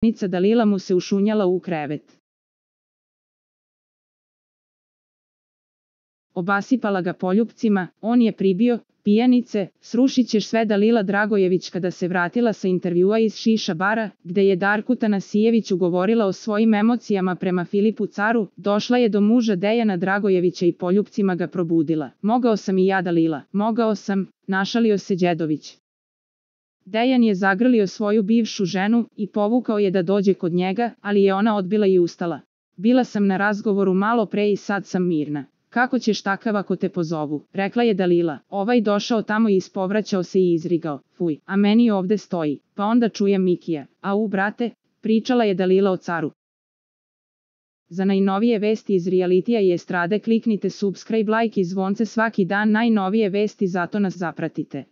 Nica Dalila mu se ušunjala u krevet. Obasipala ga poljupcima, on je pribio, pijanice, srušit ćeš sve. Dalila Dragojević kada se vratila sa intervjua iz Šiša bara, gde je Darku Tanasijeviću govorila o svojim emocijama prema Filipu Caru, došla je do muža Dejana Dragojevića i poljupcima ga probudila. Mogao sam i ja, Dalila, mogao sam, našalio se Đedović. Dejan je zagrlio svoju bivšu ženu i povukao je da dođe kod njega, ali je ona odbila i ustala. Bila sam na razgovoru malo pre i sad sam mirna. Kako ćeš takav ako te pozovu, rekla je Dalila. Ovaj došao tamo i ispovraćao se i izrigao, fuj, a meni ovde stoji, pa onda čujem Mikija, au brate, pričala je Dalila o Caru. Za najnovije vesti iz realitija i estrade kliknite subscribe, like i zvonce svaki dan, najnovije vesti, zato nas zapratite.